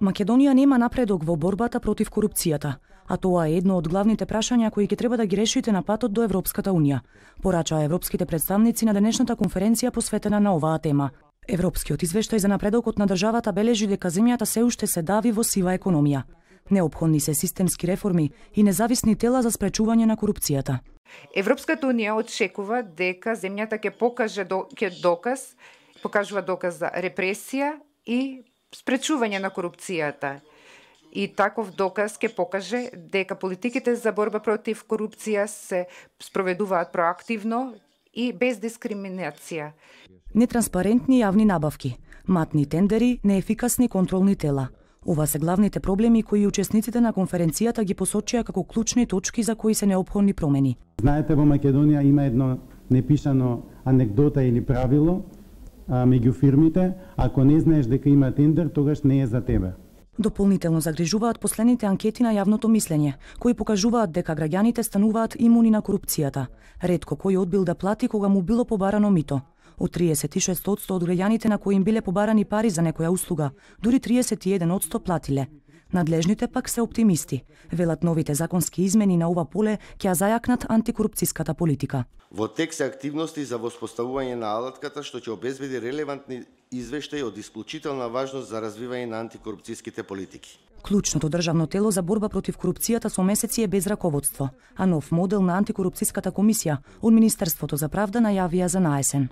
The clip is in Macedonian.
Македонија нема напредок во борбата против корупцијата, а тоа е едно од главните прашања кои ќе треба да ги решите на патот до Европската Унија, порачаа европските представници на денешната конференција посветена на оваа тема. Европскиот извештај за напредокот на државата бележи дека земјата се уште се дави во сива економија. Неопходни се системски реформи и независни тела за спречување на корупцијата. Европската Унија очекува дека земјата ќе покажува доказ за репресија и спречување на корупцијата. И таков доказ ќе покаже дека политиките за борба против корупција се спроведуваат проактивно и без дискриминација. Нетранспарентни јавни набавки, матни тендери, неефикасни контролни тела. Ова се главните проблеми кои учесниците на конференцијата ги посочија како клучни точки за кои се неопходни промени. Знаете, во Македонија има едно непишано анекдота или правило меѓу фирмите: ако не знаеш дека има тендер, тогаш не е за тебе. Дополнително загрижуваат последните анкети на јавното мислење, кои покажуваат дека граѓаните стануваат имуни на корупцијата. Ретко кој одбил да плати кога му било побарано мито. Од 36% од граѓаните на кои им биле побарани пари за некоја услуга, дури 31% платиле. Надлежните пак се оптимисти. Велат новите законски измени на ова поле ќе ја зајакнат антикорупцијската политика. Во тек се активности за воспоставување на алатката што ќе обезбеди релевантни извештаи од исклучителна важност за развивање на антикорупцијските политики. Клучното државно тело за борба против корупцијата со месеци е без раководство, а нов модел на антикорупцијската комисија од Министерството за правда најавија за наесен.